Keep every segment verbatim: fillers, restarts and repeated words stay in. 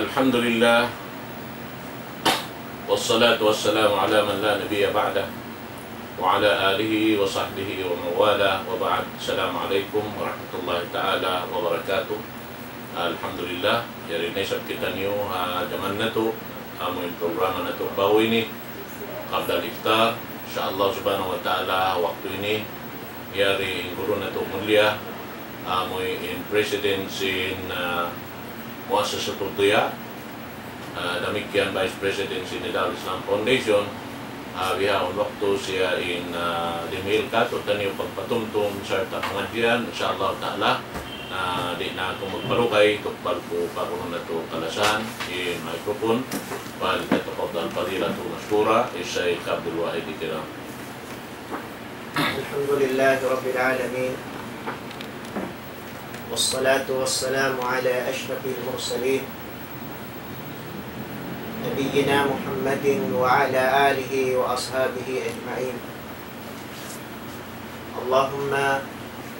الحمد لله، والصلاة والسلام على من لا نبي بعده، وعلى آله وصحبه ومن والاه، وبعد. السلام عليكم ورحمة الله تعالى وبركاته. Alhamdulillah, yari na isab kitaniyu ha jaman natu', amu in programa natu' bawi ini, Qabla al-Iftar. Insya Allah subhanahu wa ta'ala, waktu ini, yari in guru natu' mulia, amu in president sin, ah, Muassasatud Diya, ah, damikkiyan Vice President sin Nida'ul Islam Foundation, ah, bihaun waktu siya in, ah, dimihil katu'taniyu pagpatumtum sarta' pangadjian, insya Allah ta'ala, ah, di' na aku magpalugay, tukbal ku pa kunu' natu' kalasahan in microphone, فليتفضل فضيلته مشكورا الشيخ عبد الواحد الكرام. الحمد لله رب العالمين، والصلاة والسلام على أشرف المرسلين، نبينا محمد وعلى آله وأصحابه أجمعين. اللهم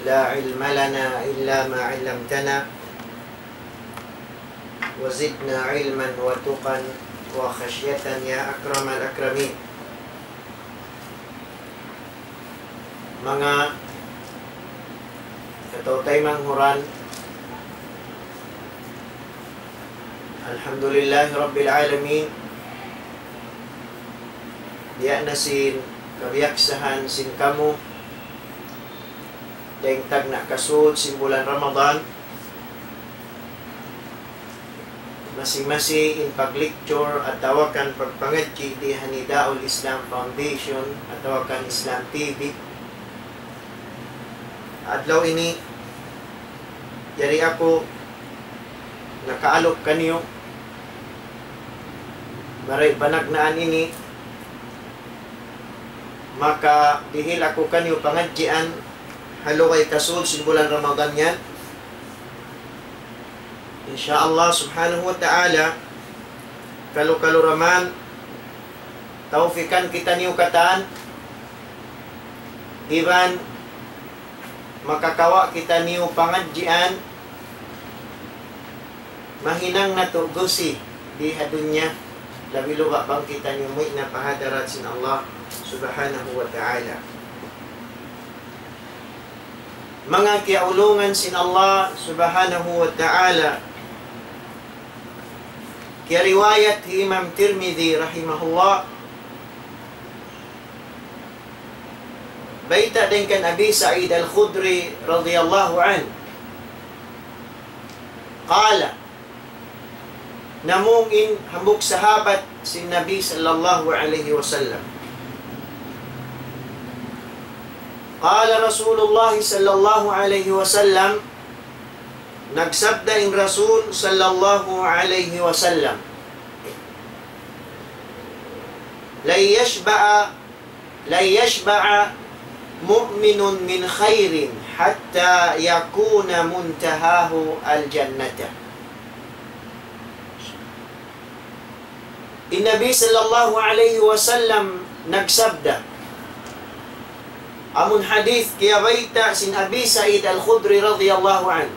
لا علم لنا إلا ما علمتنا، وزدنا علما وتقى وخشية يا أكرم الأكرمين. Manga kataw-taymanghuran, alhamdulillahi rabbil alamin. Biya' na sin kabiyaksahan sin kamu, dayng tagna' kasud sin bulan Ramadan, masi-masi in pag-lecture atawa kan pagpangadji' di ha Nida'ul Islam Foundation atawa kan Islam T V. Adlaw ini, yari aku nakaalup kaniyu, mari panagnaan ini, makadihil aku kaniyu pangadjian, ha lugay kasud sin bulan Ramadan yan. Insya Allah subhanahu wa ta'ala, kalu-kalu ra man, tawfikan kitaniyu katan, iban makakawa' kitaniyu pangadjian, mahinang natu' gusi di ha dunya, labi-labi bang kitaniyu muwi' na pa hadarat sin Allah subhanahu wa ta'ala. Manga kiyaulungan sin Allah subhanahu wa ta'ala, kiyariwayat hi Imam Tirmidhi rahimahullah, bayta' dayn kan Abi Sa'id Al-Khudri radiyallahu anhu. قال, namung in hambuuk sahabat sin Nabi sallallahu alayhi wasallam. قال رسول الله صلى الله عليه وسلم, nagsabda in Rasul sallallahu alayhi wasallam, لن يشبع لن يشبع مؤمن من خير حتى يكون منتهاه الجنة. In Nabi sallallahu alayhi wasallam nagsabda, amun hadith kiyabayta' sin Abi Sa'id Al-Khudri radiyallahu anhu,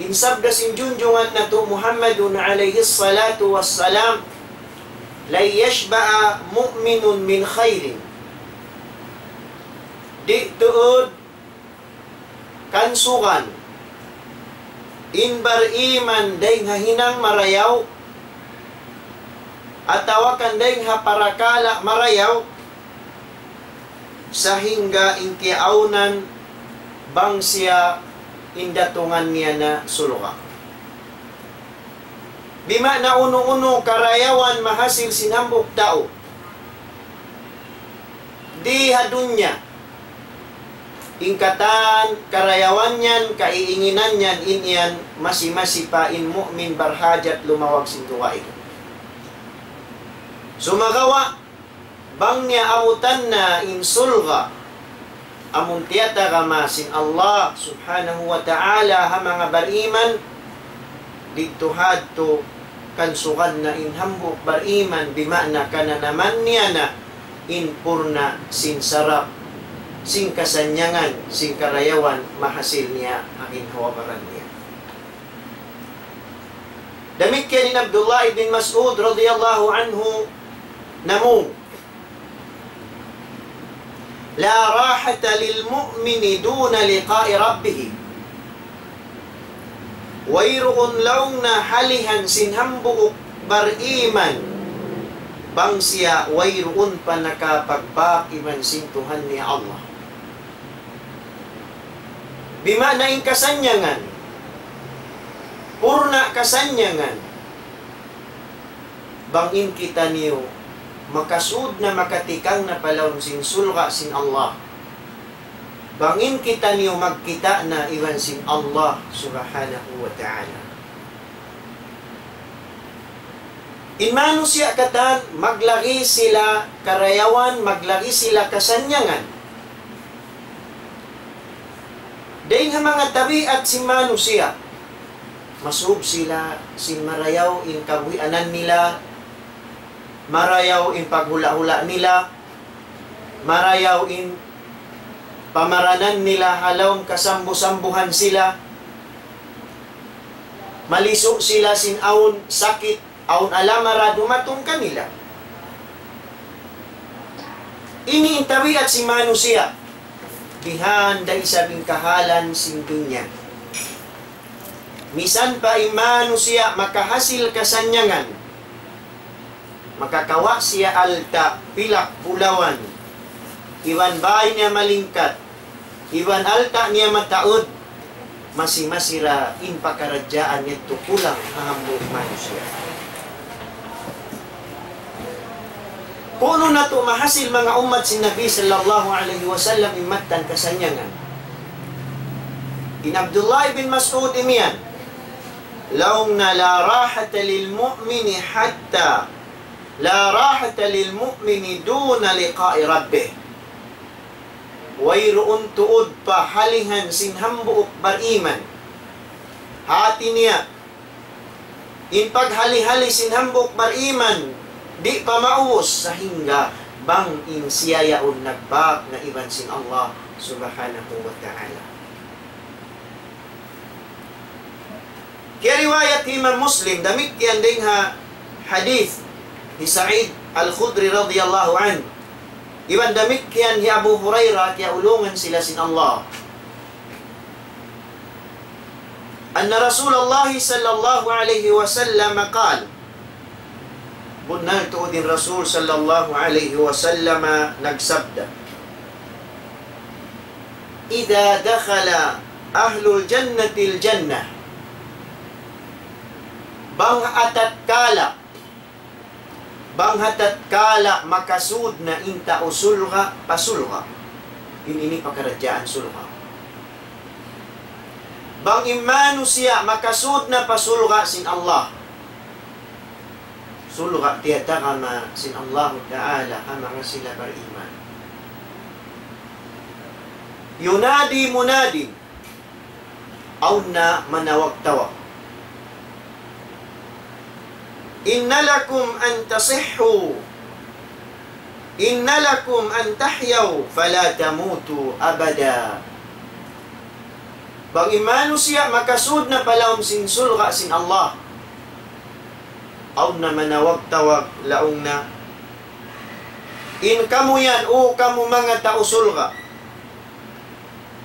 in sabda sin junjungan natu' Muhammadun alayhi salatu wassalam, لن يشبع مؤمن من خير. Di' tuud kansugan in bariman dayng ha hinang marayaw, atawa kan dayng ha parakala' marayaw, sahingga in kiyaawnan bang siya in datungan niya na surga'. Bima'na unu-unu karayawan mahasil sin hambuuk tau di ha dunya, in katan karayawan yan, kaiinginan yan, in yan masi-masi pa in mu'min barhajat lumawag sin dugaing. Sumagawa', bang niya abutan na in surga', amun tiyatagama sin Allah subhanahu wa ta'ala ha manga bariman, didtu hadtu kansugan na in hambuuk bariman, bima'na kananaman niya na in purna' sin sarap, sin kasannyangan, sin karayawan mahasil niya ha ginhawa-baran niya. Damikkiyan in Abdullah ibn Mas'ud radiyallahu anhu namung, لا راحة للمؤمن دون لقاء ربه. Wayruun laung niya halihan sin hambuuk bariman bang siya wayruun pa nakapagbāk iban sin Tuhan niya Allah. Bima'na in kasannyangan, purna' kasannyangan, bang in kitaniyu makasūd na, makatikang na pa lawm sin surga' sin Allah. Bang in kitaniyu magkita' na iban sin Allah Subhanahu wa Ta'ala. In manusiya' katan, maglagi' sila karayawan, maglagi' sila kasannyangan. Dayn ha manga tabiat sin manusiya', masūb sila sin marayaw in kabuhianan nila, marayaw in paghula'-hula' nila, marayaw in pamaranan nila ha lawm kasambu-sambuhan sila, malisu' sila sin awn sakit, awn alamara dumatung kanila. Ini in tabiat sin manusiya', bihan da isab in kahalan sin dunya. Misan pa in manusiya' makahasil kasannyangan, makakawa' siya alta', pilak, bulawan, iban bāy niya malingkat, iban alta' niya mataud, masi-masi ra in pakaradjaan yadtu kulang ha hambuuk manusiya'. Kunu' natu' mahasil manga ummat sin Nabi sallallahu alayhi wasallam in mattan kasannyangan. In Abdullah ibn Mas'ud imiyan, laung niya, لا راحة للمؤمن حتى، لا راحة للمؤمن دون لقاء ربه. Wayruun tuud pa halihan sin hambuuk bariman. Hāti niya, in paghali-hali sin hambuuk bariman, di' pa maubus sahingga bang in siya yaun nagbāk na iban sin Allah Subhanahu wa Ta'ala. Kiyariwayat hi Imam Muslim, damikkiyan dayn ha hadith hi Sa'id Al-Khudri radiyallahu anhu. Iban damikkiyan hi Abu Hurairah, kiyaulungan sila sin Allah. أن رسول الله صلى الله عليه وسلم قال، bunnal tuud in Rasul sallallahu alayhi wasallam nagsabda, إذا دخل أهل الجنة الجنة. Bang ha tatkala, bang ha tatkala makasūd na in tau surga' pa surga'. In ini pakaradjaan surga'. Bang in manusiya' makasūd na pa surga' sin Allah. Surga' tiyatagama sin Allahu Ta'ala ha manga sila bariman. ينادي مناد. Awn na manawag-tawag. إن لكم أن تصحوا، إن لكم أن تحيوا فلا تموتوا أبدا. Bang in manusiya' makasūd na pa lawm sin surga' sin Allah, awn na manawag-tawag laung niya, in kamu yan, o kamu manga tau surga',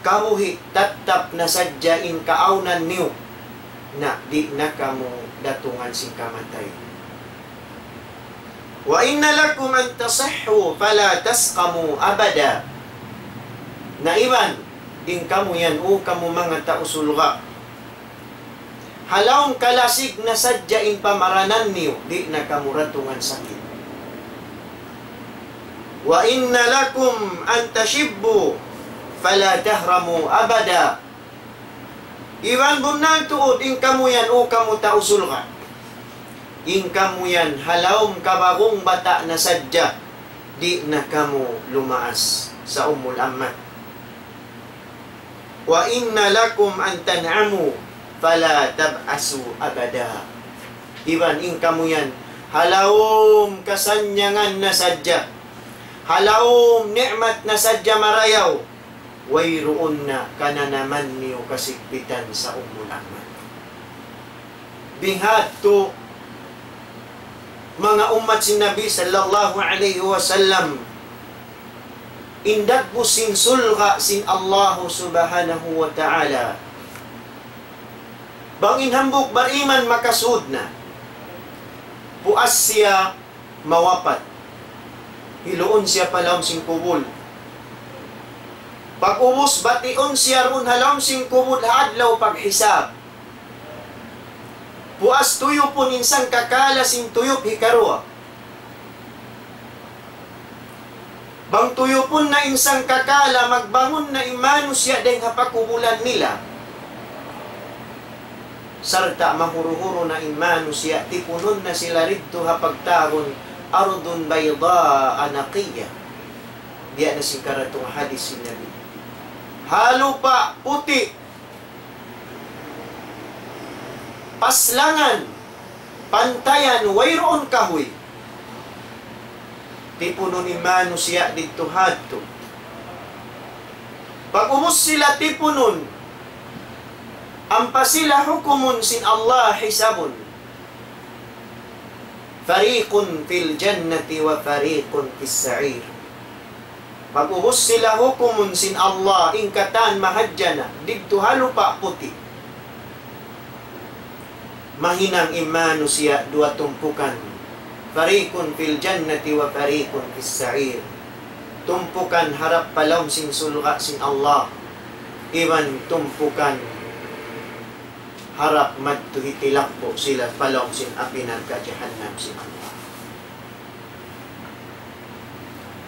kabuhi' tattap na sadja in kaawnan niyu, na di' na kamu datungan sin kamatay. وإن لكم أن تصحوا فلا تسقموا أبدا. Na iban, in kamu yan, o kamu manga tau surga', ha lawm kalasig na sadja in pamaranan niyu, di' na kamu datungan sakit. وإن لكم أن تشبوا فلا تهرموا أبدا. Iban bunnal tuud in kamu yan, o kamu tau surga'. In kamu yan, ha lawm kabagong bata' na sadja, di' na kamu lumaas sa umul ammat. وإن لكم أن تنعموا فلا تبأسوا أبدا. Iban in kamu yan, ha lawm kasannyangan na sadja, ha lawm ni'mat na sadja marayaw, wayruun na kananaman niyu kasigpitan sa umul ammat. Bihadtu manga ummat sin Nabi sallallahu alayhi wasallam, in dagbus sin surga' sin Allahu subhanahu wa ta'ala. Bang in hambuuk bariman makasud na, puas siya mawapat. Hiluun siya pa lawm sin kubul. Pag-ubus, batiun siya duun ha lawm sin kubul ha adlaw paghisab. Puas tuyupun in sangkakala sin tuyup hikaruwa. Bang tuyupun na in sangkakala, magbangun na in manusiya' dayn ha pakubulan nila. Sarta' mahuru-huru na in manusiya', tipunun na sila didtu ha pagtawagun أرض بيضاء نقية. Biya' na sin karatung hadis sin Nabi. Ha lupa' puti', paslangan, pantayan, wayruun kahuy. Tipunun in manusiya' didtu hadtu. Pag-ubus sila tipunun, ampa sila hukumun sin Allah, hisabun. فريق في الجنة وفريق في السعير. Pag-ubus sila hukumun sin Allah, in katan mahadjana', didtu ha lupa' puti'. Mahinang in manusiya' duwa tumpukan. فريق في الجنة وفريق في السعير. Tumpukan harap pa lawm sin surga' sin Allah. Iban tumpukan harap madtu hitilakpu' sila pa lawm sin api narka' jahannam sin Allah.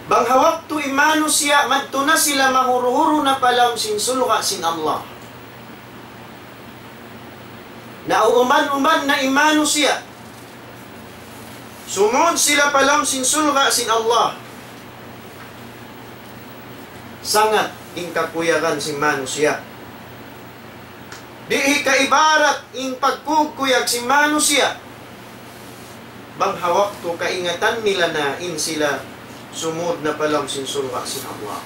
Bang ha waktu in manusiya' madtu na sila, mahuru-huru na pa lawm sin surga' sin Allah. Nauuman-uman na in manusiya'. Sumud sila pa lawm sin surga' sin Allah. Sangat in kakuyagan sin manusiya'. Di' hikaibarat in pagkukuyag sin manusiya'. Bang ha waktu kaingatan nila na in sila sumud na pa lawm sin surga' sin Allah.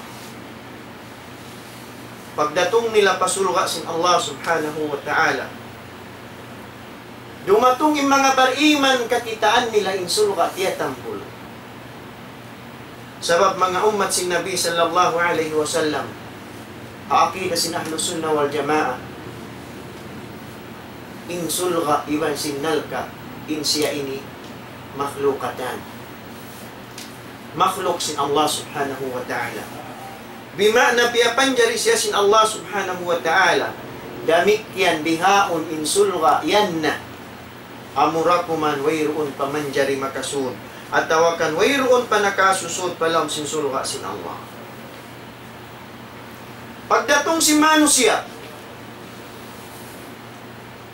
Pagdatung nila pa surga' sin Allah subhanahu wa ta'ala, dumatung in manga bariman, kakitaan nila in surga' tiyatambul. Sabab manga ummat sin Nabi sallallahu alayhi wasallam, ha aqida sin Ahlus Sunnah wal Jamaah, in surga' iban sin narka', in siya ini مخلوقتان. Makhluk sin Allah subhanahu wa ta'ala. Bima'na piyapanjari siya sin Allah subhanahu wa ta'ala. Damikkiyan bihaun in surga' yan na. Amura kuman wayruun pa manjari makasud, atawa kan wayruun pa nakasusud pa lawm sin surga' sin Allah. Pagdatung sin manusiya',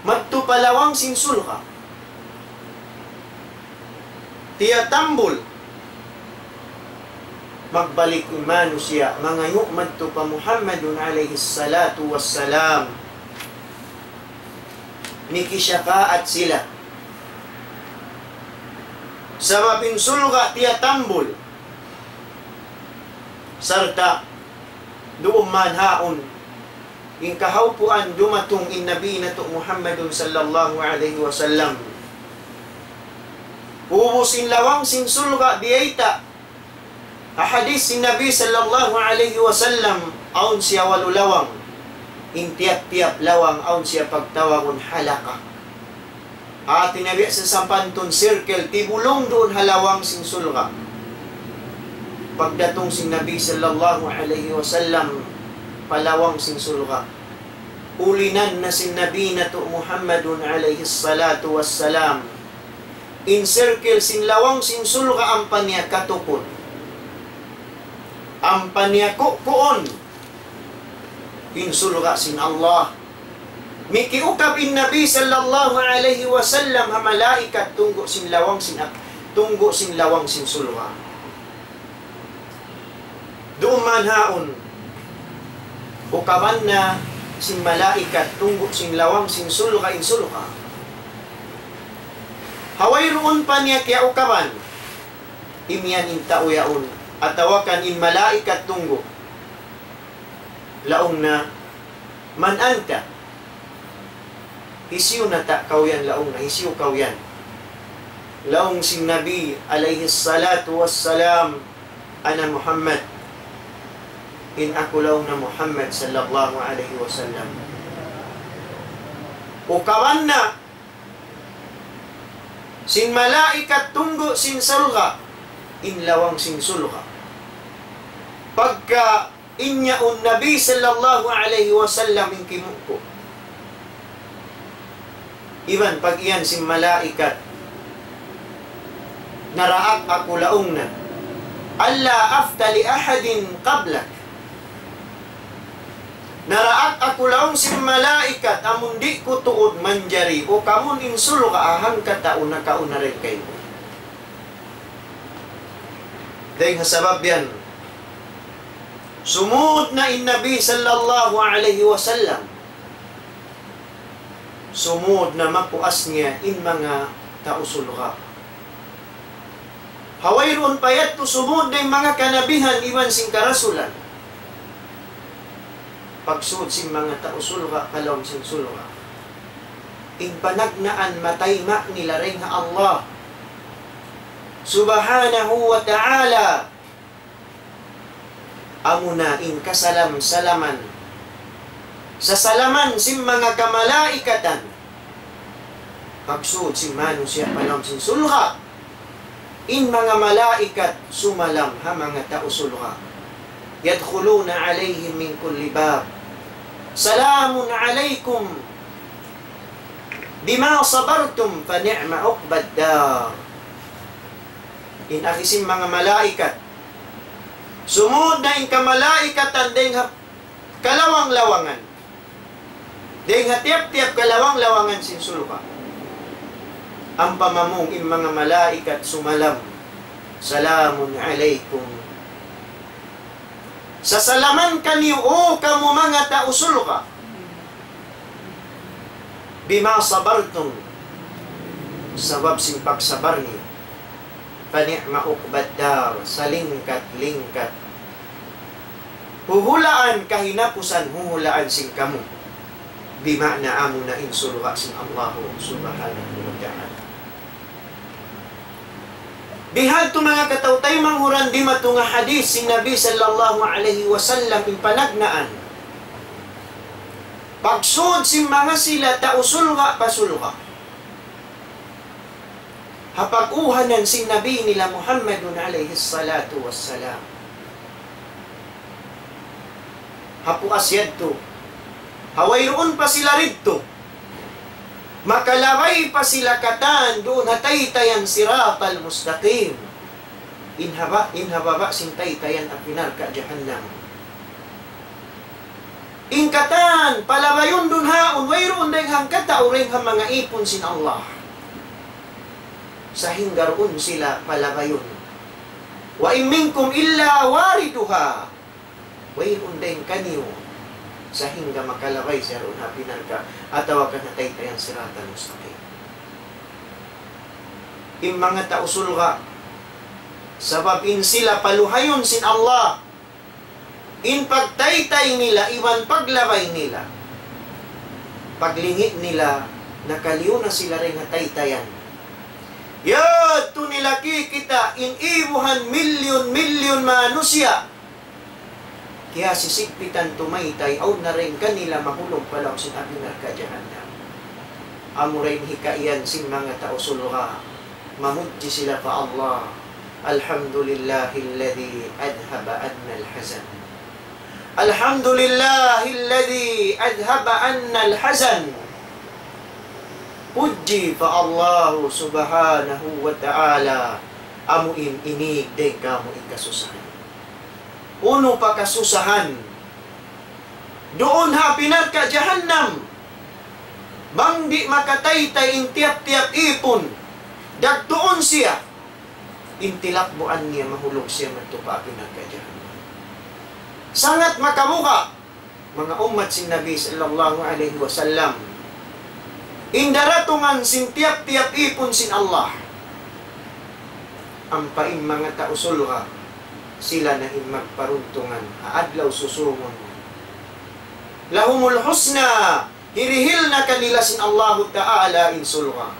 madtu pa lawang sin surga'. Tiyatambul. Magbalik in manusiya', mangayu' madtu pa Muhammadun alayhi salatu wassalam. Mikisyafaat sila. Sabab in surga' tiyatambul. Sarta' duun man haun in kahawpuan dumatung in Nabi natu' Muhammadun sallallahu alayhi wasallam. Ubus in lawang sin surga' biyayta'. Ha hadis sin Nabi sallallahu alayhi wasallam, awn siya walu lawang. In tiyap-tiyap lawang awn siya pagtawagun halaka. Hati niya biya' sin sampantun circle, tibulung duun ha lawang sin surga'. Pagdatung sin Nabi sallallahu alayhi wasallam pa lawang sin surga', ulinan na sin Nabi natu' Muhammadun alayhi salatu wassalam in circle sin lawang sin surga' ampa niya katukun. Ampa niya kukuun in surga' sin Allah. Mikiukab in Nabi sallallahu alayhi wasallam ha malaikat tunggu' sin lawang sin ak-, tunggu' sin lawang sin surga'. Duun man haun, ukaban na sin malaikat tunggu' sin lawang sin surga' in surga'. Ha wayruun pa niya kiyaukaban, imiyan in tau yaun, atawa kan in malaikat tunggu'. Laung niya, من أنت؟ Hisiyu na ta kaw yan, laung na, hisiyu kaw yan? Laung sin Nabi alayhi salatu wassalam, "Ana Muhammad." In aku laung na Muhammad sallallahu alayhi wasallam. Ukaban na sin malaikat tunggu' sin surga', in lawang sin surga'. Pagka in yaun Nabi sallallahu alayhi wasallam in kimuku'. Iban pag-iyan sin malaikat, naraak aku laung na, "Alla afta li ahadin qablak." Naraak aku laung sin malaikat, amun di' ku tuud manjari ukaban in surga' ha hangkatau nakauna dayn kaymu. Dayn ha sabab yan, sumud na in Nabi sallallahu alayhi wasallam, sumud na mapuas niya in manga tau surga'. Ha wayruun pa yadtu sumud na in manga kanabihan iban sin karasulan. Pagsud sin manga tau surga' pa lawm sin surga', in panagnaan matayma' nila dayn ha Allah subhanahu wa ta'ala, amuna in kasalam-salaman, sasalaman sin manga kamalaikatan. Pagsud sin manusiya' pa lawm sin surga', in manga malaikat sumalam ha manga tau surga'. يدخلون عليهم من كل باب. سلام عليكم بما صبرتم فنعم عقبى الدار. In agi sin manga malaikat, sumud na in kamalaikatan dayn ha kalawang-lawangan. Dayn ha tiyap-tiyap kalawang-lawangan sin surga'. Ampa mamung in manga malaikat sumalam, "Salamun alaykum." Sasalaman kaniyu, O kamu manga tau surga'. بما صبرتم. Sabab sin pagsabar niyu. فنعم عقبى الدار. Salingkat-lingkat huhulaan kahinapusan huhulaan sin kamu. Bima'na amuna in surga' sin Allah subhanahu wa ta'ala. Bihadtu manga kataw-taymanghuran dimatung ha hadith sin Nabi sallallahu alayhi wasallam in panagnaan. Pagsud sin manga sila tau surga' pa surga'. Ha pag-uhanan sin Nabi nila Muhammadun alayhi salatu wassalam. Ha puas yadtu, ha wayruun pa sila didtu, makalabay pa sila katan duun ha taytayan siratal mustaqim. In ha ba-, in ha baba' sin taytayan api narka' jahannam. In katan, palabayun duun haun, wayruun dayn hangkatau dayn ha manga ipun sin Allah. Sahingga duun sila palabayun. وإن منكم إلا واردها. Wayruun dayn kaniyu sahingga makalabay siya duun ha api narka' atawa kan ha taytayan siratal mustaqim. In manga tau surga', sabab in sila paluhayun sin Allah, in pagtaytay nila iban paglabay nila, paglingi' nila, nakaliyu na sila dayn ha taytayan. Yadtu nila kikita' in ibuhan milyun-milyun manusiya'. Kiyasisigpitan tumaytay, awn na dayn kanila mahulug pa lawm sin api narka' jahannam. Amura in hikaiyan sin manga tau surga', mamudji sila pa Allah. الحمد لله الذي أذهب عنا الحزن. الحمد لله الذي أذهب عنا الحزن. Pudji pa Allah subhanahu wa ta'ala, amu in inig dayn kāmu' in kasusahan. Unu pa kasusahan? Duun ha api narka' jahannam, bang di' makataytay in tiyap-tiyap ipun, dagtuun siya, in tilakbuan niya mahulug siya madtu pa api narka' jahannam. Sangat makabuga', manga ummat sin Nabi sallallahu alayhi wasallam, in daratungan sin tiyap-tiyap ipun sin Allah. Ampa in manga tau surga', sila na in magparuntungan ha adlaw susūngun. لهم الحسنى Hirihil na kanila sin Allahu Ta'ala in surga'.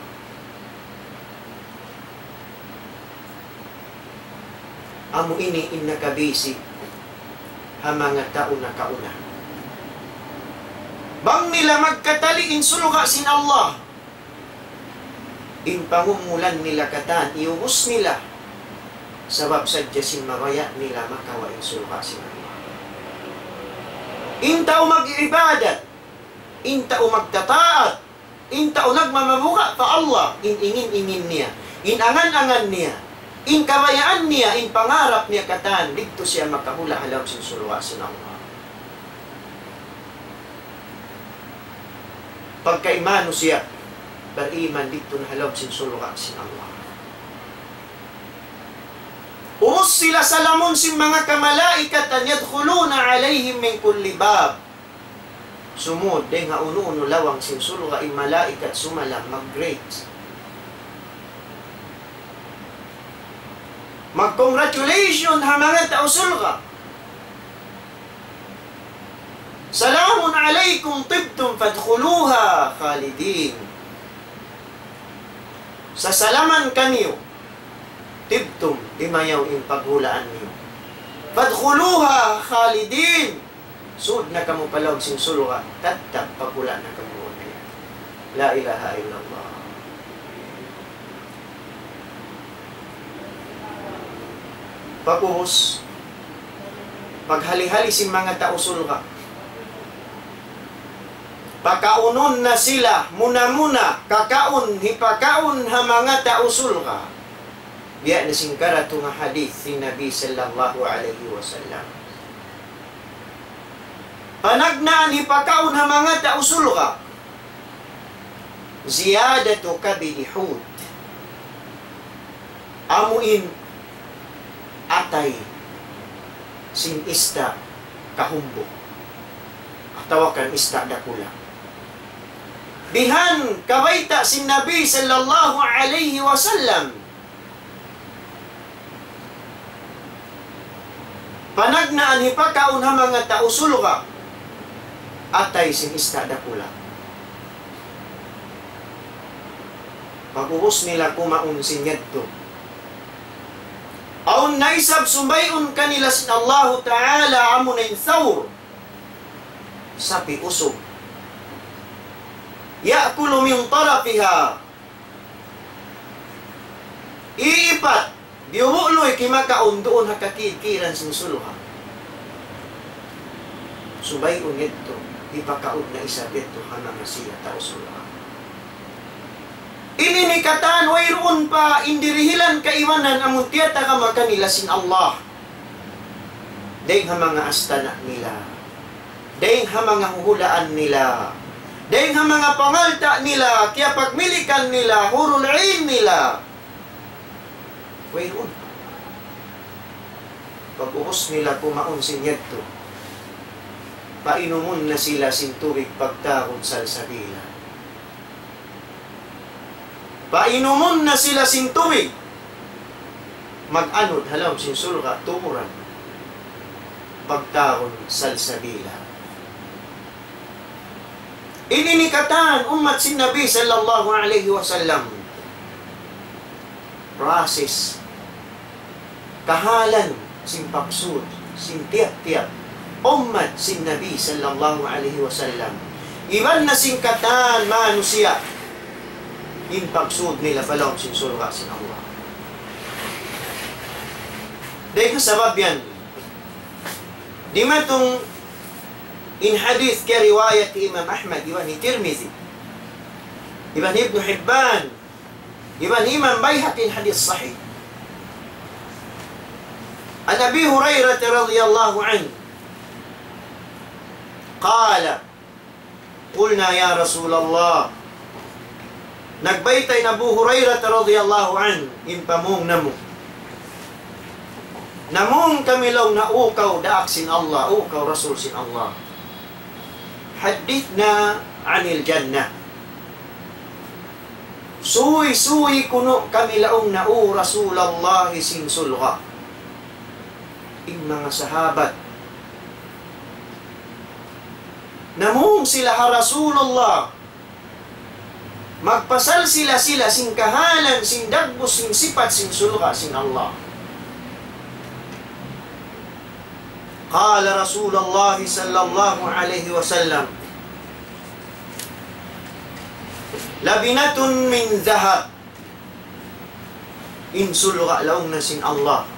Amu ini in nakabisi ha manga tau nakauna. Bang nila magkatali in surga' sin Allah, in pangumulan nila katan, iubus nila. Sabab sadja sin mabaya' nila makawa' in surga' sin Allah. In tau mag-ibadat, in tau magtataat, in tau nagmamabuga' pa Allah, in ingin-ingin niya, in angan-angan niya, in kabayaan niya, in pangarap niya katan, didtu siya makahula' ha lawm sin surga' sin Allah. Pagka in manusiya' bariman, didtu na ha lawm sin surga' sin Allah. Ubus sila salamun sin manga kamalaikat, يدخلون عليهم من كل باب. Sumud dayn ha unu-unu lawang sin surga' in malaikat, sumalam, mag-greet. Mag-congratulation ha manga tau surga'. سلام عليكم طبتم فادخلوها خالدين. Sasalaman kaniyu, طبتم, dimayaw in paghulaan niyu. فادخلوها خالدين. Sud na kamu pa lawm sin surga', tattap paghula' na kamu. La ilaha illallah. Pag'ubus, paghali-hali sin manga tau surga', pakaunun na sila, muna-muna, kakaun, hipakaun ha manga tau surga'. Biya' na sin karatung hadith sin Nabi sallallahu alayhi wasallam. Panagnaan hipakaun ha manga tau surga'. زيادة كبد حوت. Amu in atay sin ista' kahumbug, atawa kan ista' dakula'. Bihan kabayta' sin Nabi sallallahu alayhi wasallam. Panagnaan hipakaun ha manga tau surga' atay sin ista' dakula'. Pag'ubus nila kumaun sin yadtu, awn na isab subay'un kanila sin Allahu Ta'ala, amu na in thawr, sapi' usug. يأكل من طرفها. Iipat, biyubu' luy kimakaun duun ha kakid-kiran sin surga'. Subay'un yadtu, hipakaun na isab yadtu ha manga siya tau surga'. Ini in katan wayruun pa in dirihilan kaibanan amun tiyatagama kanila sin Allah. Dayng ha manga astana' nila, dayng ha manga huhulaan nila, dayng ha manga pangalta' nila, kiyapagmilikan nila, hurul 'ain nila. Wayruun. Pag'ubus nila kumaun sin yadtu, painumun na sila sin tubig pagtawagun salsabila. Painumun na sila sin tubig. Mag-anud ha lawm sin surga' tuburan. Pagtawagun salsabila. Ini in katan ummat sin Nabi sallallahu alayhi wasallam. Process. Kahalan sin pagsud sin tiyap-tiyap ummat sin Nabi sallallahu alayhi wasallam, iban na sin katan manusiya', in pagsud nila pa lawm sin surga' sin Allah. Dayng ha sabab yan, dimatung in hadith kiyariwayat hi Imam Ahmad, iban hi Tirmidhi, iban hi Ibnu Hibban, iban hi Imam Bayhaqi, in hadith sahih. عن أبي هريرة رضي الله عنه قال: قلنا يا رسول الله. Nagbayta' in Abu Hurairah radiyallahu anhu, in pamung namu'. Namung kami laung niya, "O kaw daak sin Allah, o kaw Rasul sin Allah, حدثنا عن الجنة." Suy-suy kunu' kami laung niya, "O Rasulullah, sin surga'." In manga sahabat Namung sila ha Rasulullah. Magpasal sila-sila sin kahalan, sin dagbus, sin sipat, sin surga', sin Allah. قال رسول الله صلى الله عليه وسلم: لبنة من ذهب. In surga' laung na sin Allah,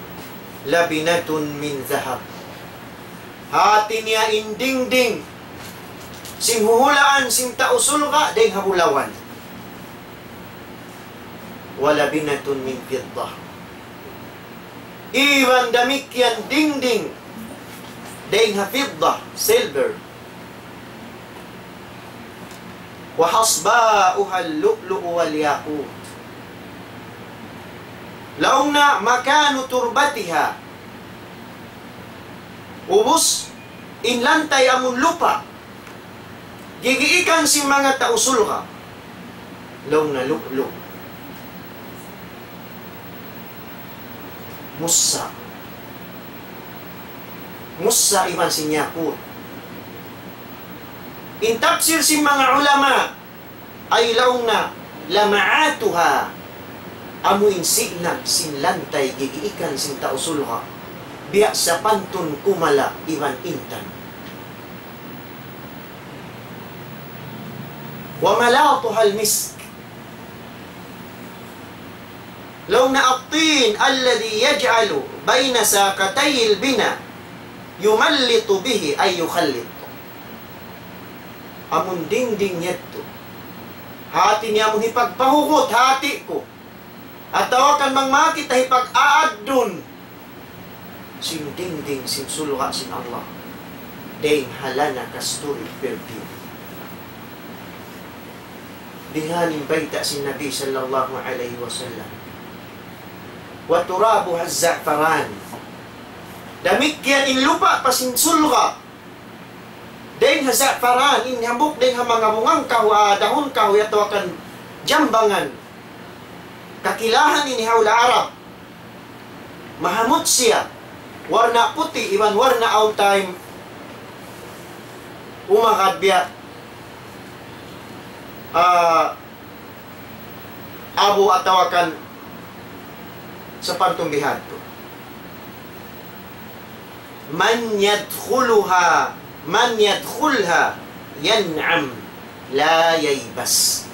لبنة من ذهب. Hati niya in dingding sin huhulaan sin tau surga' dayn ha bulawan. ولبنة من فضة. Iban damikkiyan dingding dayn ha fidda, silver. وحصباؤها اللؤلؤ والياقوت. Laung na مكان تربتها. Ubus, in lantay amun lupa'. Gigiikan sin manga tau surga'. Laung na lu'lu'. Mussa'. Mussa' iban sin yakut. In tafsir sin manga ulama, ay laung na لمعاتها, amu in sinag sin lantay gigiikan sin tau surga', biya' sapantun kumala' iban intan. وملاطها المسك. Laung na الطين الذي يجعل بين ساقطي البناء يملط به أي يخلط. Amun dingding yadtu. Hati niya amun hipagpahugut hati ku. Atawa kan bang makita hipag-aaddun sin dingding sin surga' sin Allah. Dayn ha lana kasturi perfume. Bihan in bayta' sin Nabi sallallahu alayhi wasallam. وترابها الزعفران. Damikkiyan in lupa' pa sin surga'. Dayn ha za'faran, in hambuuk dayn ha manga bunga kahuy, ah, dahun kahuy atawa kan jambangan. Kakilahan ini ha hula' Arab. Mahamut siya. Warna' puti', iban warna' awn time. Umagad biya'. Ah, abu atawa kan sapantun bihadtu. من يدخلها، من يدخلها ينعم لا ييبس.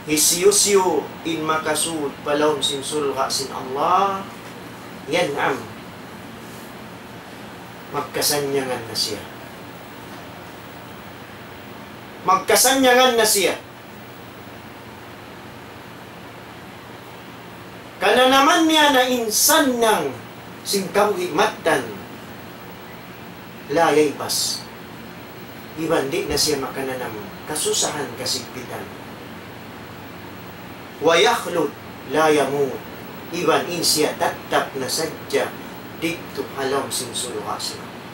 Hisiyu-siyu in makasud pa lawm sin surga' sin Allah, ينعم. Magkasannyangan na siya. Magkasannyangan na siya. Kananaman niya na in sannang sin kabuhi' mattan, لا ييبس. Iban di' na siya makananam kasusahan, kasigpitan. ويخلد لا يموت. Iban in siya tattap na sadja didtu ha lawm sin surga' sin Allah.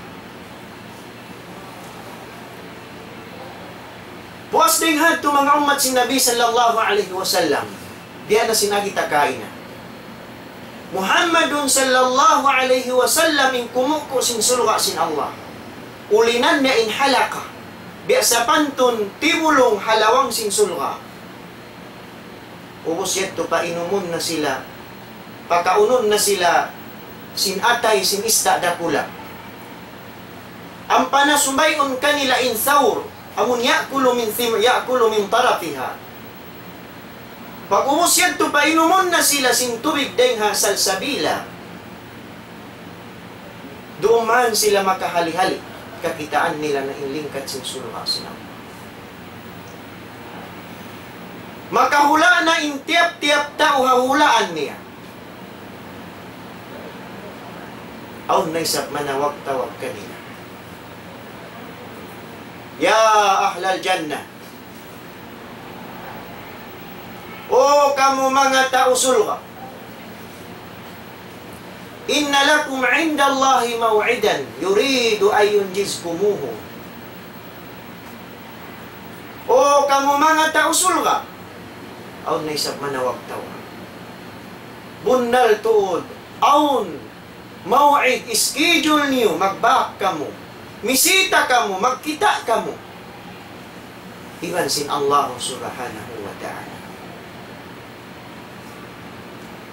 Puas dayn ha yadtu manga ummat sin Nabi sallallahu alayhi wasallam, biya' na sin agi ta kaina. Muhammadun sallallahu alayhi wasallam in kumuku' sin surga' sin Allah. Ulinan niya in halaka. Biya' sapantun tibulung ha lawang sin surga'. Ubus yadtu painumun na sila, pakaunun na sila sin atay sin ista' dakula'. Ampa na sumay'un kanila in thawr, amun يأكل من ثم-، يأكل من طرفها. Pag-ubus yadtu painumun na sila sin tubig dayn ha salsabila. Duun man sila makahali-hali, kakitaan nila na in lingkat sin surga' sin Allah. Makahula' na in tiyap-tiyap tau ha hulaan niya. Awn na isab manawag-tawag kanila. يا أهل الجنة. O kamu manga tau surga'. إن لكم عند الله موعدا يريد أن ينجزكموه. O kamu manga tau surga'. Awn na isab manawag-tawag. Bunnal tuud. Awn موعد, schedule niyu, magbak kamu. Misita kamu, magkita' kamu iban sin Allah Subhanahu wa Ta'ala.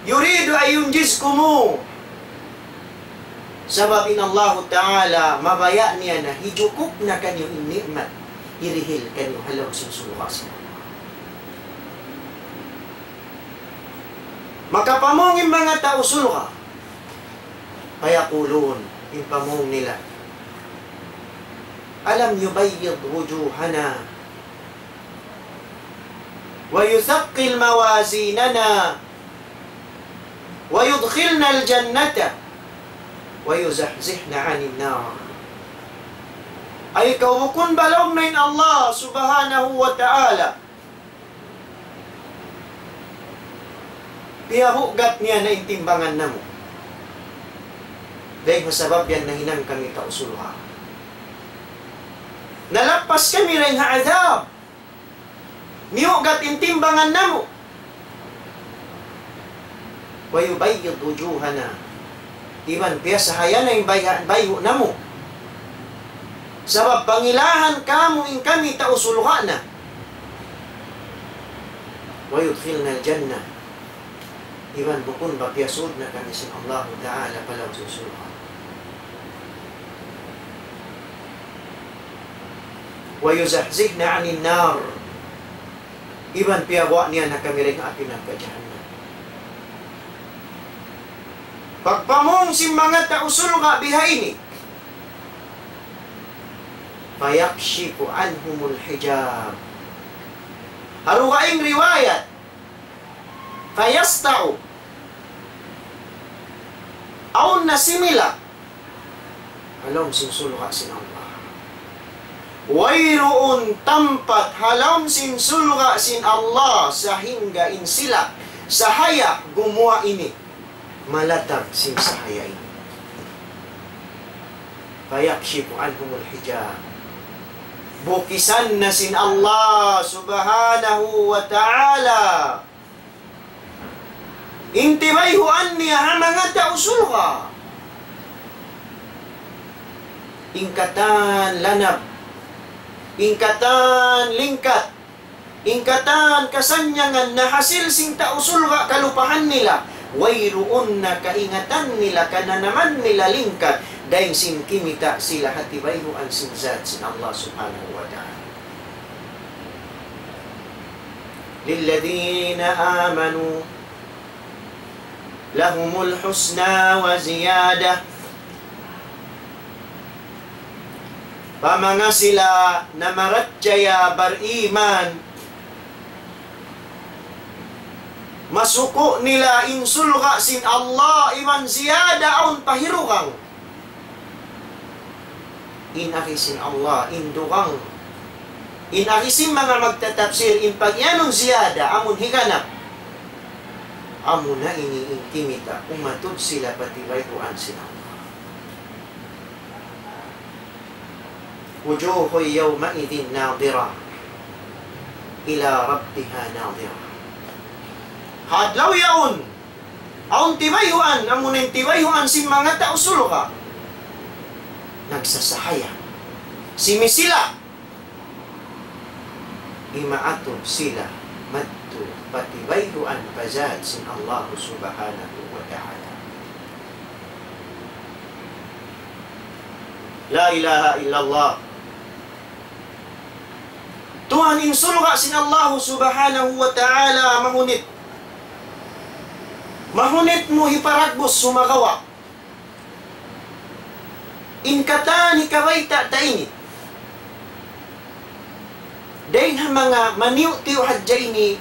يريد أن ينجزكم. Sabab in Allahu Ta'ala mabaya' niya na hijukup na kaniyu in ni'mat hirihil kaniyu ha lawm sin surga' sin Allah. Makapamung in manga tau surga'. فيقولون, in pamung nila, ألم يبيض وجوهنا ويثقل موازيننا ويدخلنا الجنة ويزحزحنا عن النار. Ay kaw, bukun ba laung na in Allah Subhanahu wa Ta'ala piyabugat niya na in timbangan namu'? Dayn ha sabab yan nahinang kami tau surga'. Nalappas kami dayn ha adhab. Miyugat in timbangan namu'. ويبيض وجوهنا. Iban piyasahaya na in bayha-, bayhu' namu'. Sabab pangilahan kamu in kami tau surga' na. ويدخلنا الجنة. Iban bukun ba piyasud na kami sin Allahu Ta'ala pa lawm sin surga'. ويزحزحنا عن النار. Iban piyaguwa' niya na kami dayn ha api narka' jahannam. Pagpamung sin manga tau surga' bihaini, فيكشف عنهم الحجاب. Ha dugaing riwayat, فيسطع. Awn na similak ha lawm sin surga' sin Allah. Wayruun tampat ha lawm sin surga' sin Allah sahingga in silak sahaya gumuwa' ini malatag sin sahaya ini. فيكشف عنهم الحجاب. Bukisan na sin Allah Subhanahu wa Ta'ala in tibayhuan niya ha manga tau surga'. In katan lanab, in katan lingkat, in katan kasannyangan nahasil sin tau surga' kalupahan nila, wayruun na kaingatan nila, kananaman nila lingkat, dayn sin kimita' sila ha tibayhuan sin zat sin Allah Subhanahu wa Ta'ala. للذين آمنوا لهم الحسنى وزيادة. Pa manga sila namarachaya bariman, masuku' nila in surga' sin Allah iban ziyada awn pa hirugang. In agi sin Allah, in dugang. In agi sin manga magtatapsir, in pagiyanun ziyada, amun higanap. Amuna ini in kimita', umatud sila pa tibayhuan sin Allah. وجوه يومئذ ناضرة إلى ربها ناظرة. Ha adlaw yaun, awn tibayhuan, amuna in tibayhuan sin manga tau surga'. Nagsasahaya. Simisilang. Imaatud sila madtu pa tibayhuan pa zat sin Allah Subhanahu wa Ta'ala. La ilaha illallah. Tuhan, in surga' sin Allah Subhanahu wa Ta'ala mahunit. Mahunit mu hiparagbus sumagawa' in katan hikabayta' ta ini. Dayn ha manga maniyu-tiyu hadja ini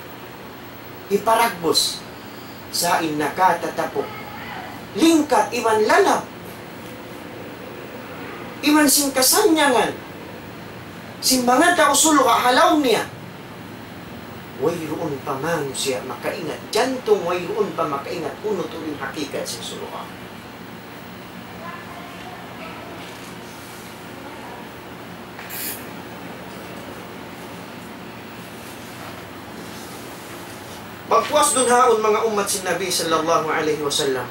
hiparagbus. Sa' in nakatatapuk, lingkat iban lanab, iban sin kasannyangan sin manga tau surga' ha lawm niya. Wayruun pa manusiya' makaingat jantung, wayruun pa makaingat unu tuud in hakikat sin surga'. Pagpuas duun ha yaun, manga ummat sin Nabi sallallahu alayhi wasallam,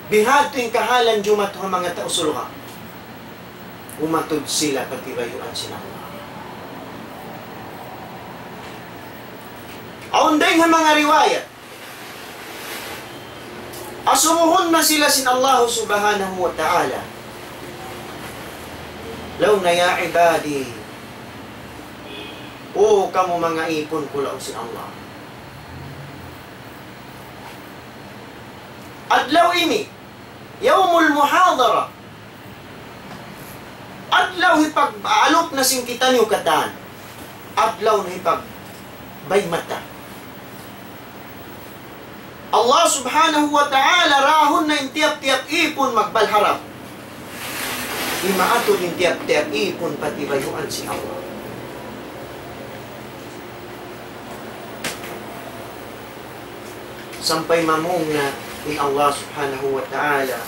Bihadtu in kahalan jumatu ha manga tau surga'. Umatud sila pa tibayuan sin Allah. Awn dayn ha manga riwayat, asubuhun na sila sin Allah subhanahu wa ta'ala. Laung niya, "Ya ibadi, O kamu manga ipun ku," laung sin Allah. Adlaw ini, yawmul muhadara. Adlaw hipag-alup na sin kitaniyu katan. Adlaw na hipagbaymata. Allah subhanahu wa ta'ala, rahun na in tiyap-tiyap ipun magbalharap. Imaatu in tiyap-tiyap ipun pa tibayuan sin Allah. Sampay mamung na in Allah subhanahu wa ta'ala,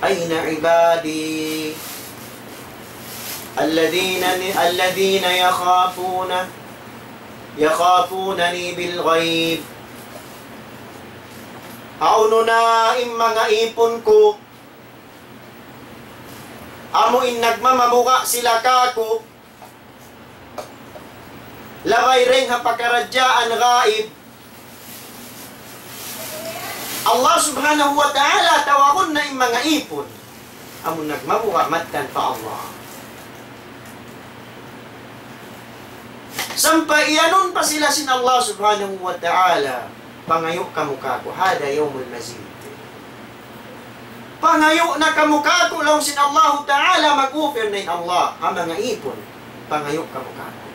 "Ayna ibadi alladhina, alladhina yakhafuna, yakhafunani bil ghaib?" Hawnu na in manga ipun ku, amu in nagmamabuga' sila kāku', labay dayn ha pakaradjaan gaib. Allah subhanahu wa ta'ala tawagun na in manga ipun. Amu nagmabuga' mattan pa Allah. Sampay iyanun pa sila sin Allah subhanahu wa ta'ala, "Pangayu' kamu kāku', hada yawmul mazid." Pangayu' na kamu kāku', laung sin Allahu ta'ala, mag-offer na in Allah ha manga ipun. Pangayu' kamu kāku'.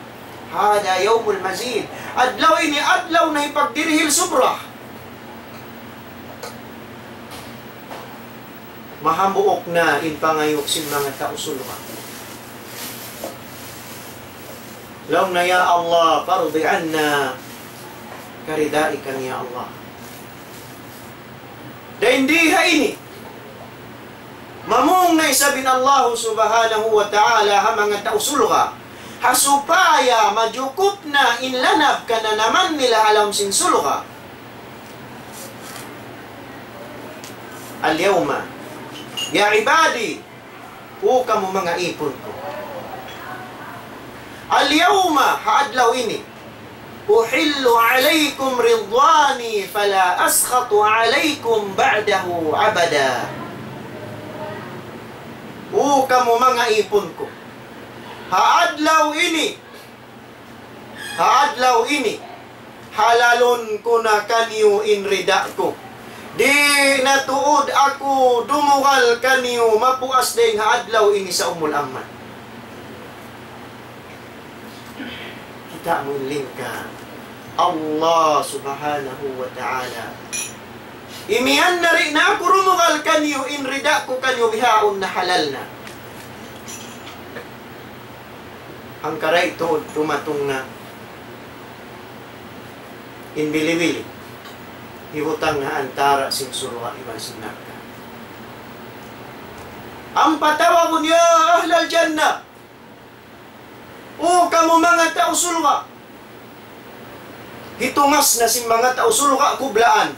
Hada yawmul mazid. Adlaw ini, adlaw na hipagdirihil subra. Mahambuuk na in pangayu' sin manga tau surga'. Laung na, "Ya Allah, pardi anna, karidai kami, ya Allah." Dayn di ha ini, mamung na isab in Allah subhanahu wa ta'ala ha manga tau surga', ha supaya majukup na in lanab kananaman nila ha lawm sin surga'. Al-yawma, ya ibadi, O kamu manga ipun ku. Al-yawma, ha adlaw ini, uhillu alaykum ridwani fala askhatu alaykum ba'dahu abada. O kamu manga ipun ku. Ha adlaw ini, Ha adlaw ini, halalun ku na kaniyu in rida ku. Di' na tuud aku dumugal kaniyu mapuas dayn ha adlaw ini sa umul ammat. Kita' mu in lingka Allah subhanahu wa ta'ala. Imiyan na di' na aku dumugal kaniyu in rida ku kaniyu bihaun na halal na. Hangkaray tuud dumatung na in bili-bili, hibutang ha antara' sin surga' iban sin narka'. Ampa tawagun, "Ya ahlal jannah, O kamu manga tau surga'." Hitungas na sin manga tau surga' kublaan.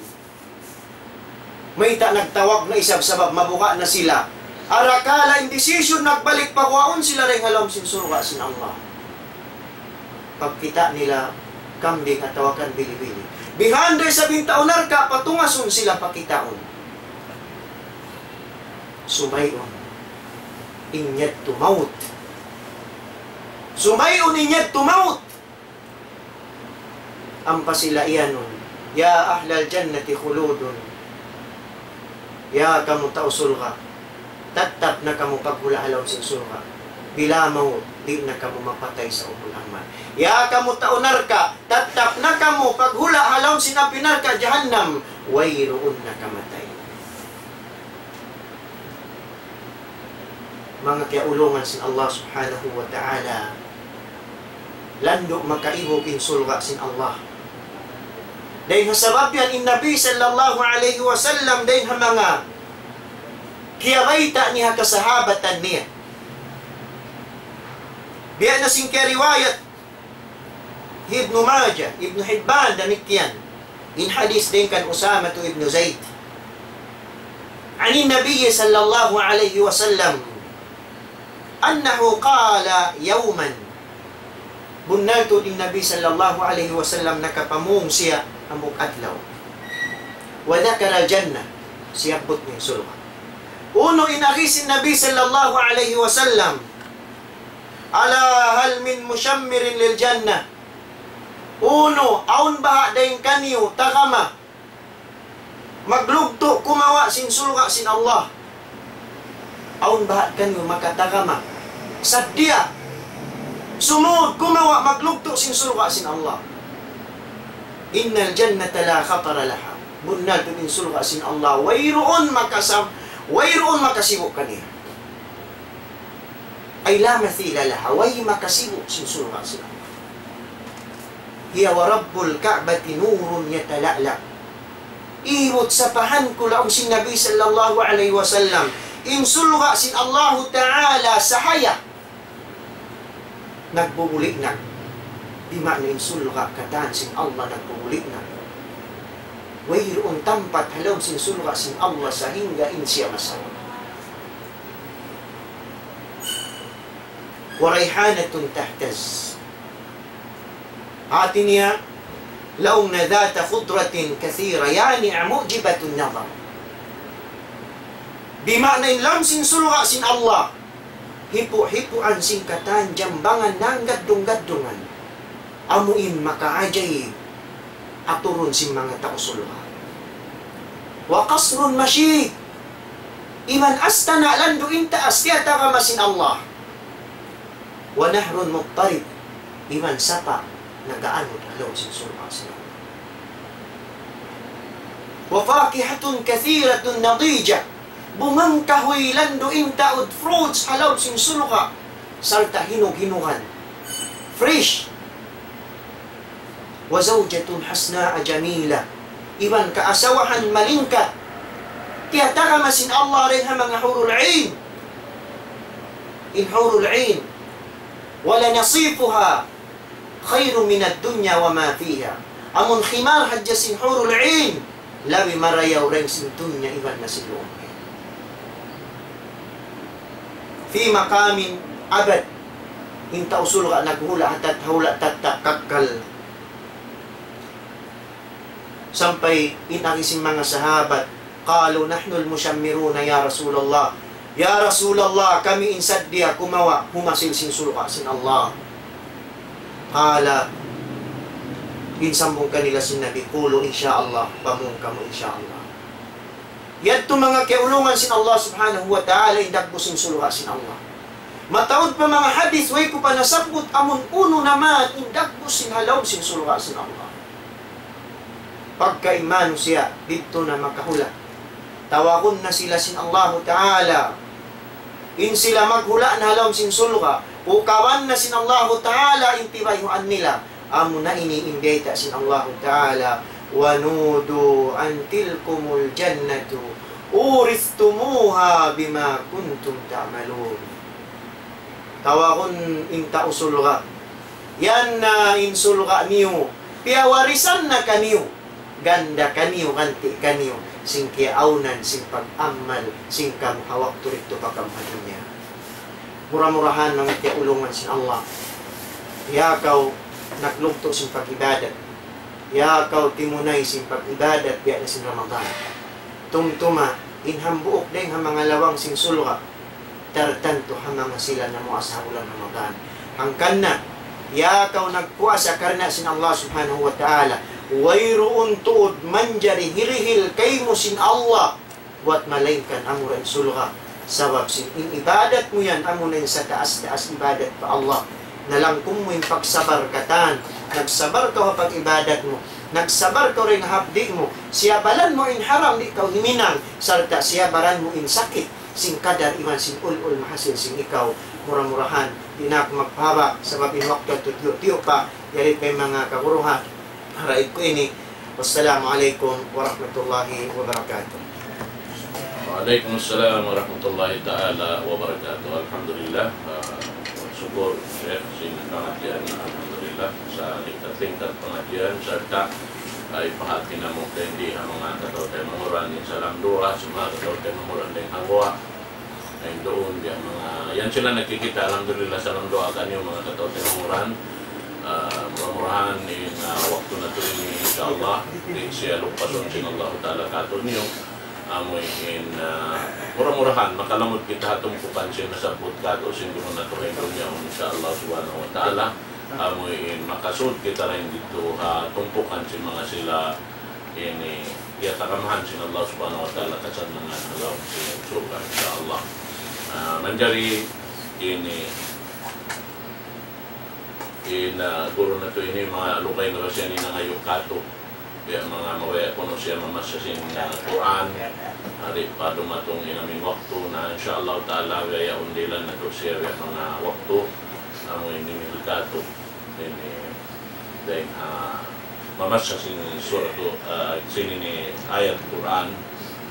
Mayta' nagtawag na isab sabab mabuga' na sila. Arakala' in decision nagbalik pa guwaun sila dayn ha lawm sin surga' sin Allah. Pagkita' nila kambing atawa kan bili-bili. Bihan da isab in tau narka' patungasun sila pakitaun. Sumay'un in yadtu mawt. Sumay'un in yadtu mawt. Ampa sila iyanun, "Ya ahlal jannati khuludun." Ya kamu tau surga', tattap na kamu paghula' ha lawm sin surga'. Bila mawt, di' na kamu mapatay sa umul ammat. Ya kamu tau narka', tattap na kamu paghula' ha lawm sin api narka' jahannam. Wayruun na kamatay. Manga kiyaulungan sin Allah subhanahu wa ta'ala, landu' makaibug in surga' sin Allah. Dayn ha sabab yan in Nabi sallallahu alayhi wasallam dayn ha manga kiyabayta' niya ha kasahabatan niya. Biya' na sin kiyariwayat Ibnu Majah, Ibnu Hibban, damikkiyan. In hadith dayn kan Usamatu ibnu Zayd. عن النبي صلى الله عليه وسلم أنه قال يوما. Bunnal tuud in Nabi sallallahu alayhi wasallam nakapamung siya hambuuk adlaw. وذكر الجنة, siyabbut niya in surga'. Unu in agi sin Nabi sallallahu alayhi wasallam, ألا هل من مشمر للجنة؟ Unu, awn baha' dayn kaniyu tagama maglugtu' kumawa' sin surga' sin Allah? Awn baha' kaniyu makatagama, saddiya sumud kumawa' maglugtu' sin surga' sin Allah? إن الجنة لا خطر لها. Bunnal tuud in surga' sin Allah, wayruun makasam-, wayruun makasibu' kaniya. أي لا مثيل لها, way makasibu' sin surga' sin Allah. هي ورب الكعبة نور يتلألأ. Ibut sapahan ku, laung sin Nabi sallallahu alayhi wasallam, in surga' sin Allahu Ta'ala sahaya nagbubulinag. Di' maana in surga' katan sin Allah nagbubulinag. Wayruun tampat ha lawm sin surga' sin Allah sahingga in siya masawa. وريحانة تهتز. Hati niya, laung na ذات خضرة كثيرة, يعني معجبة النظر. Di' maana in lawm sin surga' sin Allah, hipu'-hipuan sin katan jambangan nanggaddung-gaddungan. Amu in makaajaib aturun sin manga tau surga'. وقصر مشيد. Iban astana' landu' in taas tiyatagama sin Allah. ونهر مضطرب. Iban sapa' nag-aanud ha lawm sin surga' sin Allah. وفاكهة كثيرة نضيجة. Bunga kahuy landu' in taud, fruits ha lawm sin surga'. Sarta' hinug-hinugan. Fresh. وزوجة حسناء جميلة. Iban kaasawahan malingkat. Tiyatagama sin Allah dayn ha manga hurul ain. In hurul ain. ولنصيفها خير من الدنيا وما فيها. Amun khimar hadja sin hurul ain, labi marayaw dayn sin dunya iban na sin lawm. في مقام أبد. In tau surga' naghula' ha tat-, hula' tatta' kakkal. Sampay in agi sin manga sahabat, قالوا نحن المشمرون يا رسول الله. Ya Rasulullah, kami in saddiya kumawa' humasil sin surga' sin Allah. قال, in sambung kanila sin Nabi, قولوا إن شاء الله, pamung kamu إن شاء الله. Yadtu manga kiyaulungan sin Allah Subhanahu wa Ta'ala in dagbus sin surga' sin Allah. Mataud pa manga hadith, way ku pa nasabbut amun unu na man in dagbus sin ha lawm sin surga' sin Allah. Pagka in manusiya' didtu na makahula', tawagun na sila sin Allahu Ta'ala. In sila maghula' na ha lawm sin surga', ukaban na sin Allahu Ta'ala in tibayhuan nila. Amuna ini in bayta' sin Allahu Ta'ala, ونودوا أن تلكم الجنة أورثتموها بما كنتم تعملون. Tawagun in tau surga'. Yan na in surga' niyu, piyawarisan na kaniyu, ganda kaniyu, ganti' kaniyu, sin kiyaawnan, sin pag-amal sin kamu ha waktu didtu pa kamu ha dunya. Mura-murahan manga kiyaulungan sin Allah. Ya kaw naglugtu' sin pag-ibadat. Ya kaw timunay sin pag-ibadat biya' na sin Ramadan. Tumtuma, in hambuuk dayn ha manga lawang sin surga', tartantu ha manga sila namuasa ha bulan Ramadan. Hangkan na, ya kaw nagpuasa karna' sin Allah Subhanahu wa Ta'ala, wayruun tuud manjari hirihil kaymu sin Allah, buwat malaingkan amura in surga'. Sabab sin in ibadat mu yan, amuna in sataas-taas ibadat pa Allah. Nalangkum mu in pagsabar katan. Nagsabar kaw ha pag-ibadat mu. Nagsabar kaw dayn ha hapdi' mu. Siyabaran mu in haram, di' kaw himinang. Sarta' siyabaran mu in sakit sin kadar iban sin ul-ul mahasil sin ikaw. Mura-murahan, di' na aku magpahaba', sabab in waktu yadtu tiyu'-tiyu' pa, yari pa in manga kaguruhan. Haraib ku ini. Wassalamu alaykum warahmatullahi wabarakatuh. Wa alaykum assalam warahmatullahi ta'ala wabarakatuh. Alhamdulillah, ah, sukul, Sheikh, sin pangadjian, alhamdulillah, sa' lingkat-lingkat pangadjian, sarta' Ay, pahati namu' dayn di ha manga kataw-taymanghuran dayn ha lawm duwa, sin manga kataw-taymanghuran dayn ha guwa'. Ay, duun, biya' manga, yan sila nakikita', alhamdulillah, ha lawm duwa kaniyu, manga kataw-taymanghuran. Ah, mura-murahan in, ah, waktu natu' ini, insya Allah, di' siya lupasun sin Allahu Ta'ala kātu'niyu. Amu in, ah, mura-murahan, makalamud kita ha tumpukan sin nasabbut kātu' sin guru natu' ha dunya, insya Allah Subhanahu wa Ta'ala. Amu in makasud kita dayn didtu ha tumpukan sin manga sila ini, iya tagamahan sin Allah Subhanahu wa Ta'ala kasannangan ha lawm sin surga', insya Allah. Ah, manjari ini, in, ah, guru natu' ini, manga lugay na ba siya ini nangayu' kātu'. Biya' manga mabaya' kunu' siya mamassa sin, ah, Qur'an, di' pa dumatung in amu in waktu, na insya Allah Ta'ala, biya' yaun dihilan natu' siya, biya' manga waktu, amu in dimihil kātu'. Ini, dayn ha, mamassa sin suratu, ah, sin ini ayat Qur'an,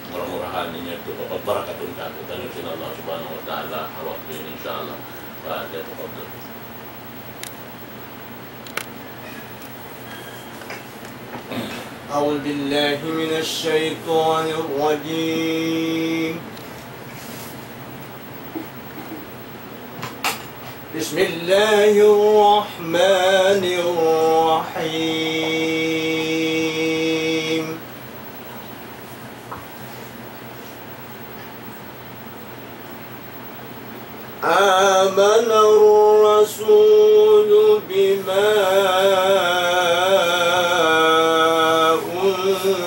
mura-murahan in yadtu pagbarakatun kātu', tanu sin Allah Subhanahu wa Ta'ala, ha waktu ini, insya Allah. Wa tafadhal. أعوذ بالله من الشيطان الرجيم. بسم الله الرحمن الرحيم. آمن الرسول بما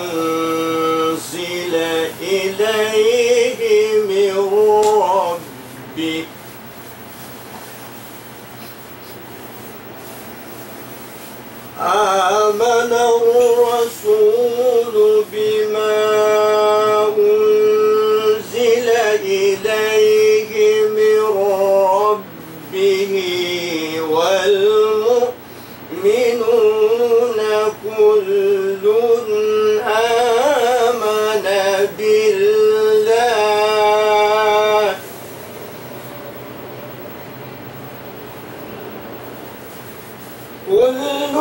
أنزل إليه من ربه. آمن الرسول بما أنزل إليه من ربه والمؤمنون كل آمن بالله كل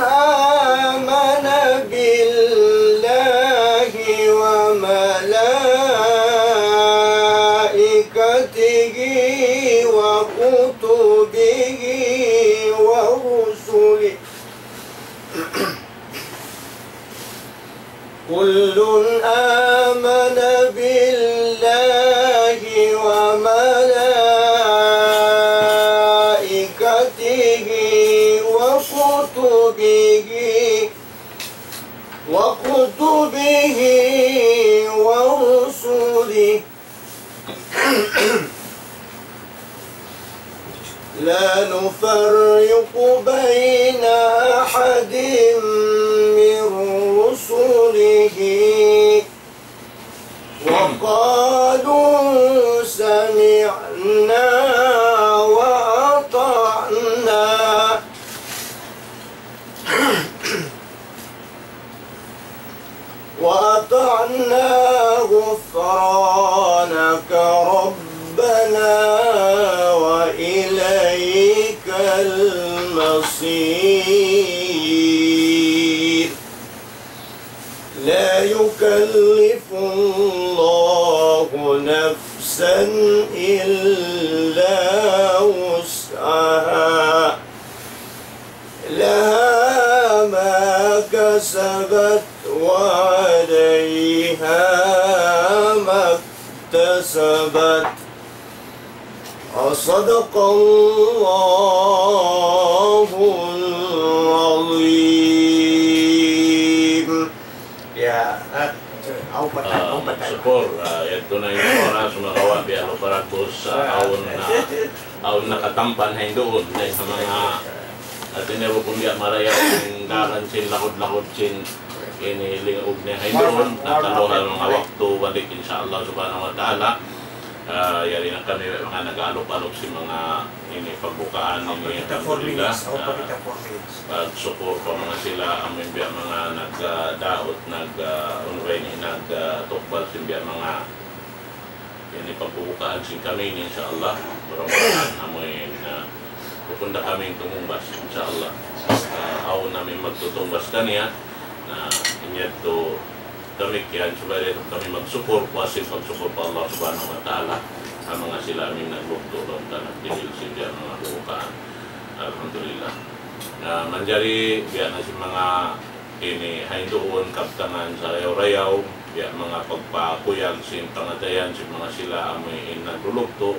آمن بالله وملائكته وكتبه ورسله كل آمن بالله وملائكته وكتبه وكتبه ورسله لا نفرق بين أحد من رسله وقالوا سمعنا وأطعنا وأطعنا غفرانك ربنا وإليك المصير. لا يكلف الله نفسا إلا وسعها. لها ما كسبت وعليها ما اكتسبت. وصدق الله العظيم. Ya, ah, aw pa ta-, aw pa ta-. Syukur, ah, yadtu na in oras, sumagawa' biya' lupa ragbus, ah, awn na, awn nakatampan ha induun, dayn ha manga, ah, tiniru' kun biya' marayaw, in daran sin, lahud-lahud sin, ini lingug niya ha induun, nakaluha manga waktu balik, insya Allah subhanahu wa ta'ala. Ah, yari na kami manga nag-aalup-alup sin manga ini pagbukaan ini, alhamdulillah. Pagsukur pa manga sila, amu in biya' manga nag-, ah, daut, nag-, ah, unu ba ini, nag-, ah, tukbal sin biya' manga ini pagbubukaan sin kami ini, insya Allah. Mura-murahan amu in, ah, bukun da kami tumungbas, insya Allah. Ah, awn na amu in magtutungbas kaniya. Na, in yadtu, damikkiyan, subay da isab kami magsukul, puas sin pagsukul pa Allah Subhanahu wa Ta'ala, ha manga sila amin naglugtu' laung ta nagdihil sin biya' manga bukaan. Alhamdulillah. Na, manjari, biya' na sin manga ini, ha hinduun, kabtangan, sarayaw-rayaw, biya' manga pagpakuyag sin pangatayan, sin manga sila amuin naglulugtu'.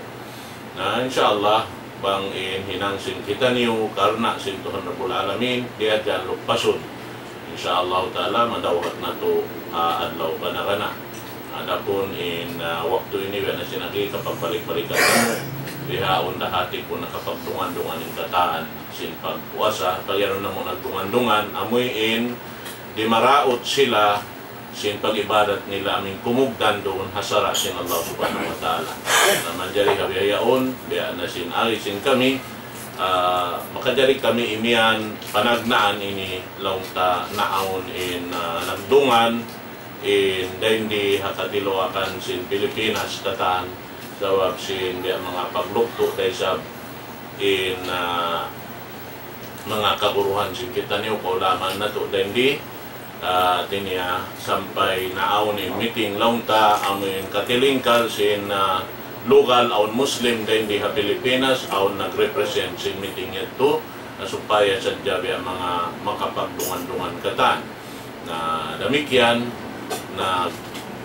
Na, insya Allah, bang in hinang sin kitaniyu, karna' sin Tuhan Rabbul Alamin, di' hadja luppasun. Insya Allah Ta'ala, madawhat natu', ah, adlaw kana-kana. Adapun in, ah, waktu ini, biya' na sin agi, kapagbalik-balikan namu', bihaun da hati ku nakapagdungan-dungan in katan sin pagpuasa, pag-iyanun namu' nagdungan-dungan, amuin dimaraut sila, sin pag-ibadat nila amin kumugdan duun ha sara' sin Allah Subhanahu wa Ta'ala. Na manjari ha bihaun, biya' na sin ari sin kami, ah, makajari kami imiyan panagnaan ini laung ta naawn in, ah, nagdungan, in dayn di ha katiluakan sin Pilipinas katan, sabab sin biya' manga paglugtu' da isab in, ah, manga kaguruhan sin kitaniyu, kaulamaan natu' dayn di, ah, hati niya sampay naawn in meeting laung ta, amuin katilingkal sin, ah, lugal awn Muslim dayn di ha Pilipinas, awn nag-represent sin meeting yadtu, na supaya sadja biya' manga makapagdungan-dungan katan. Na damikkiyan, na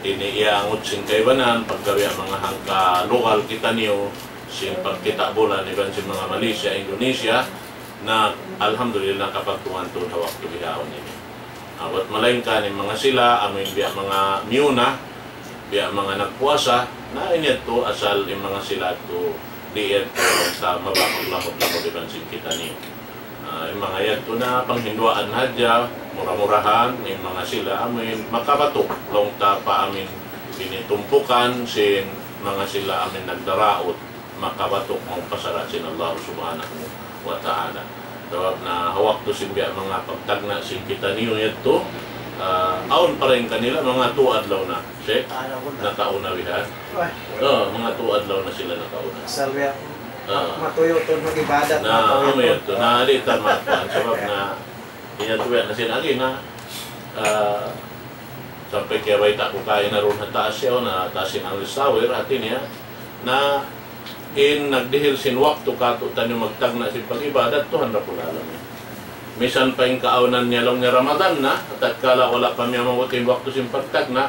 ini iyangut sin kaibanan, pagka biya' manga hangka lugal kitaniyu, sin pagkita' bulan, iban sin manga Malaysia, Indonesia, na alhamdulillah kapagtungan tuud ha waktu bihaun ini. Ah, buwat malaingkan in manga sila, amuin biya' manga miyuna, biya' manga nagpuasa, na in yadtu asal in manga sila yadtu, di' yadtu sa mabakag lamud-lamud iban sin kitaniyu. Ah, in manga yadtu na panghinduan hadja, mura-murahan, in manga sila, amuin makabatuk, laung ta pa amin ini tumpukan, sin manga sila amin nagdaraut, makabatuk mawn pa sara' sin Allah Subhanahu wa Ta'ala. Sabab na ha waktu sin biya' manga pagtagna' sin kitaniyu yadtu, ah, awn pa dayn kanila manga tū adlaw na. Sheikh, nakauna bihan. Oh, manga tū adlaw na sila nakauna. Asal biya' matuyu' tuud mag-ibadat. Na, amu yadtu. Na, di' ta makuan. Sabab na, iya tuwi na sin agi na, ah, sampay kiyabayta' ku kaina duun ha taas siya, na taas in Amir Sawir, hati niya, na in nagdihil sin waktu kātu'niyu magtagna' sin pag-ibadat, Tuhan Rabbul Alamin. Misan pa in kaawnan niya laung niya Ramadan na, tatkala wala' pa miyamabut in waktu sin pagtagna',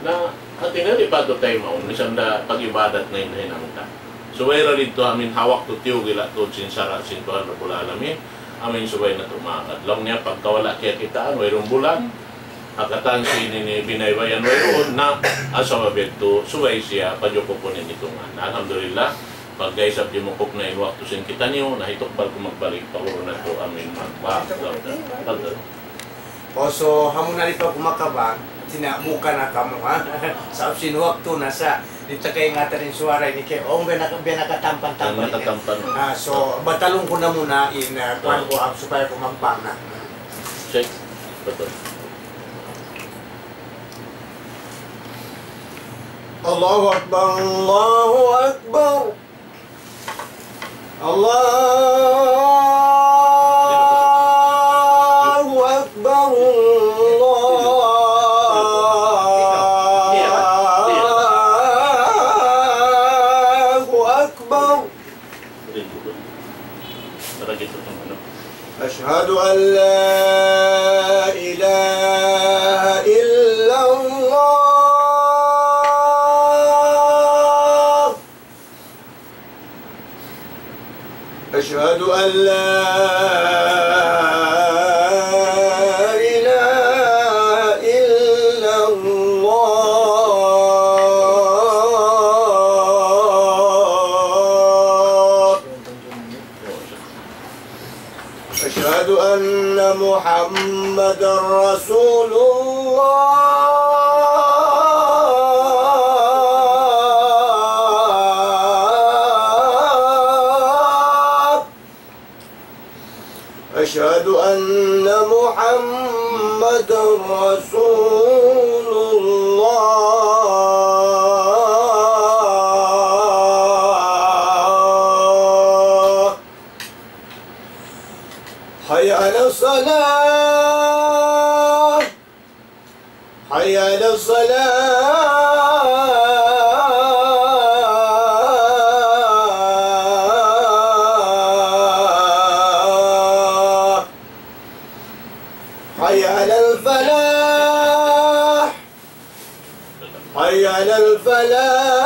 na hati niya di' patut taymaun, misan da pag-ibadat na in hinang ta. Subay da didtu amin ha waktu tiyugila' tuud sin sara' sin Tuhan Rabbul Alamin, amin subay natu' maagad. Laung niya pagka wala' kiyakitaan, wayruun bulan, ha katan sin ini binaybayan wayruun na, asal biya' yadtu, subay siya pajukupun in itungan. Alhamdulillah, pagka isab jimukup na in waktu sin kitaniyu, na hitukbal ku magbalik pa guru natu' amin magbak. Fadal. O, so, amu na di' pa ku makabang, tina-, buka na kamu, ha? Sabab sin waktu na sa, di' ta kaingatan in suwara ini kay, o, biya' naka-, biya' nakatampan-tampan ini. Nakatampan. Ah, so, batalun ku na muna in, ah, kuwan ku, ah, supaya ku magbang na. Check. Betul. الله أكبر، الله أكبر، الله أكبر، الله أكبر. أشهد أن لا إله إلا الله. أشهد أن لا إله إلا الله. أشهد أن محمدا رسول الله. أشهد أن محمدا رسول الله. حي على الصلاة. الصلاة. حي على الفلاح. حي على الفلاح.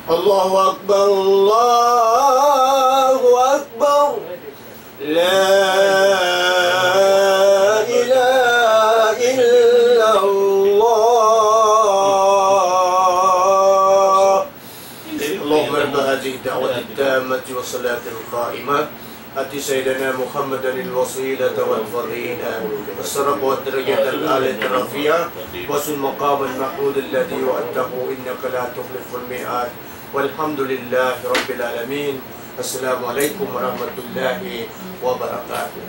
الله أكبر، الله أكبر. لا إله إلا الله. اللهم رب هذه الدعوة التامة والصلاة القائمة، آت سيدنا محمدا الوسيلة والفضيلة والشرف والدرجة العالية الرفيعة، وابعثه مقاما محمودا الذي وعدته إنك لا تخلف الميعاد. والحمد لله رب العالمين. السلام عليكم ورحمة الله وبركاته.